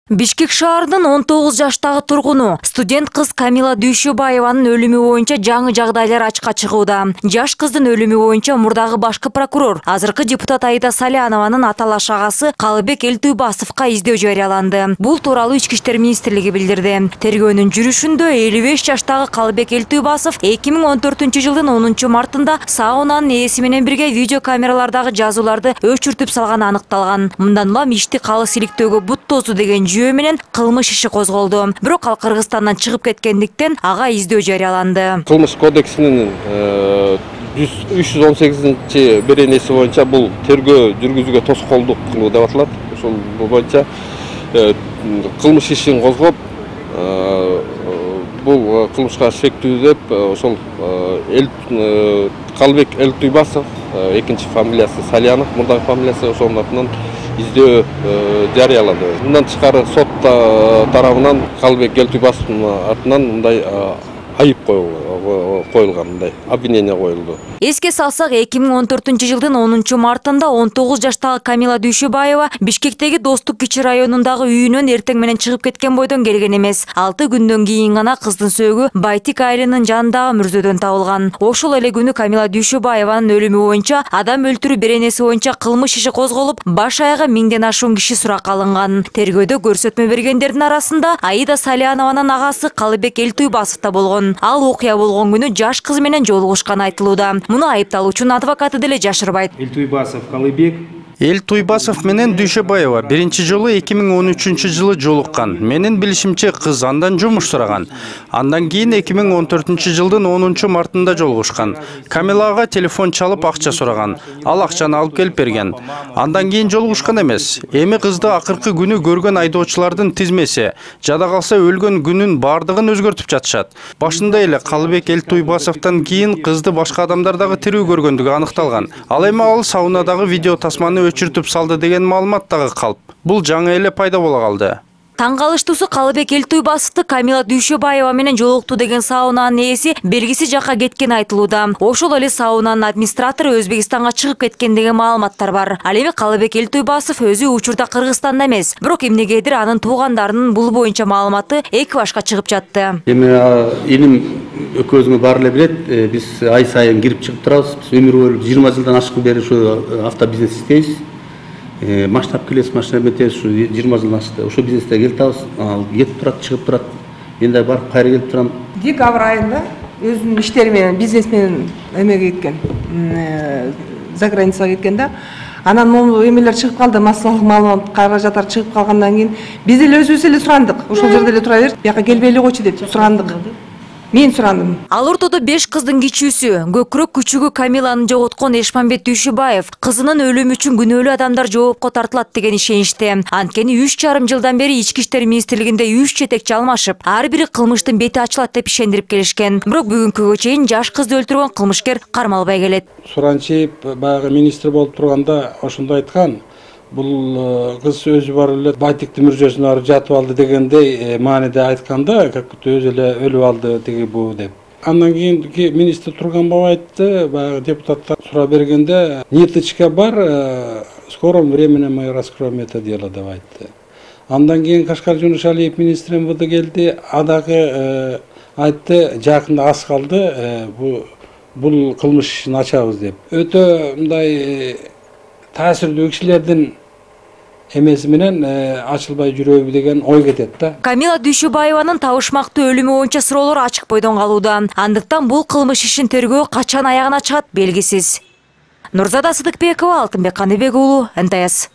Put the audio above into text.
Бишкек шаарынын 19 жаштагы тургуну студент кыз Камила Дүйшөбаеванын өлүмү боюнча жаңы жагдайлар ачыкка чыгууда. Жаш кыздын өлүмү боюнча мурдагы башкы прокурор, азыркы депутат Аида Салянованын аталаш агасы Калыбек Элтуйбасовго издөө жарыяланды. Бул тууралуу Ички иштер министрлиги билдирди. Тергөөнүн жүрүшүндө 55 жаштагы Калыбек Элтуйбасов 2014-жылдын 10-мартында саунанын ээси менен бирге видео камералардагы жазууларды өчүртүп салганы аныкталган. Мындан улам ишти калыс иликтөөгө бут тосу деген жөө менен кылмыш иши козголду. Бирок ал Кыргызстандан чыгып кеткендиктен ага издөө жарыяланды. Кылмыш кодексинин 318 беренеси боюнча бул тергөө жүргүзүүгө тоскоолдук кылуу деп аталат. Ошол боюнча кылмыш ишин козгоп, бул кылмышка шектүү деп ошол Калыбек Элтуйбасов, экинчи фамилиясы Салянов, мурдагы фамилиясы ошонун атынан издөө жарыялады. Мындан тышкары сот тарабынан Калыбек Элтуйбасовдун атынан мындай айып коюлган, мындай обвинение коюлду. Эске салсак, 2014-жылдын 10-мартында 19 жаштагы Камила Дүйшөбаева Бишкектеги Достук кичи районундагы үйүнөн эртең менен чыгып кеткен бойдон келген эмес. 6 күндөн кийин гана кыздын сөөгү Байтик айылынын жанындагы мүрзөдөн табылган. Ошол эле күнү Камила Дүйшөбаеванын өлүмү боюнча адам өлтүрүү беренеси боюнча кылмыш иши козголуп, баш аягы 1000ден ашуун киши суракка алынган. Тергөөдө көрсөтмө бергендердин арасында Аида Салянованын агасы Калыбек Элтуйбасов да болгон. Ал окуя болгон күнү жаш кыз менен жолугушканы айтылууда. Муну айыпталуучунун адвокаты деле жашырбайт. Элтуйбасов Калыбек Элтуйбасов менен Дүйшөбаева биринчи жолу 2013-жылы жолуккан. Менин билишимче кыз андан жумуш сураган. Андан кийин 2014-жылдын 10-мартында жолугушкан. Камилага телефон чалып акча сураган. Ал акчаны алып келип берген. Андан кийин жолугушкан эмес. Эми кызды акыркы күнү көргөн айдоочулардын тизмеси, жада калса өлгөн күнүн бардыгын өзгөртүп жатышат. Башында эле Калыбек Элтуйбасовдон кийин кызды башка адамдар дагы тирүү көргөндүгү аныкталган. Ал эми ал саунадагы видео тасманы өчүртүп салды деген маалымат дагы калп. Бул жаңы эле пайда боло калды. Таң калыштуусу Калыбек Элтуйбасовду Камила Дүйшөбаева менен жолукту деген саунанын ээси белгисиз жакка кеткен айтылууда. Ошол эле саунанын администратору Өзбекстанга чыгып кеткен деген маалыматтар бар. Ал эми Калыбек Элтуйбасов өзү учурда Кыргызстанда эмес, бирок эмнегедир анын туугандарынын бул боюнча маалыматы эки башка чыгып жатты. Эми илим экөөбүзгө баары эле билет, биз ай сайын кирип чыгып турабыз. Биз өмүр бою 20 жылдан ашкын бери ушу автобизнес иштейбиз. Масштаб келес машина метебиз, ушу 20 жылдан ашты. Ошо бизнесте келип табыз, кетип турат, чыгып турат. Мен да барып кайра келип турам. Декабрь айында өзүнүн иштери менен, бизнес менен эмеге кеткен, за границага кеткен да. Анан могу эмелер чыгып калды, массалык маалымат каражаттар чыгып калгандан кийин биз эле өзүбүз эле сурандык. Ошол жерде эле тура бер, бияка келбей эле койчу деп сурандык. Мен сурандым. Ал ортодо 5 кыздын кичүүсү, көкүрөк күчүгү Камиланы жоготкон Эшмамбет Дүйшөбаев кызынын өлүмү үчүн күнөөлүү адамдар жоопко тартылат деген ишеничте. Анткени 3,5 жылдан бери Ички иштер министрлигинде 3 жетекчи алмашып, ар бири кылмыштын бети ачылат деп ишендирип келишкен. Бирок бүгүнкүгө чейин жаш кызды өлтүргөн кылмышкер кармалбай келет. Суранчиев баягы министр болуп турганда ошондой айткан. Бул кыз өзү барып эле Байтиктин мүрзөсүнө барып жатып алды дегендей мааниде айтканда, как будто өзү эле өлүп алды тиги бу деп. Андан кийин министр Турганбаев айтты, баягы депутаттар сурап бергенде, ниточка бар, в скором времени мы раскроем это дело деп айтты. Андан кийин Кашкар Жунушалиев министр МВД келди, адагы айтты, жакында аз калды, бул кылмыш ишин ачабыз деп. Өтө мындай таасирдүү кишилердин эмеси менен ачылбай жүрөбү деген ой кетет да. Камила Дүйшөбаеванын табышмактуу өлүмү боюнча суроолор ачык бойдон калууда. Андыктан бул кылмыш ишин тергөө качан аягына чыгат белгисиз. Нурзада Сыдыкбекова, Алтынбек Каныбек уулу, НТС.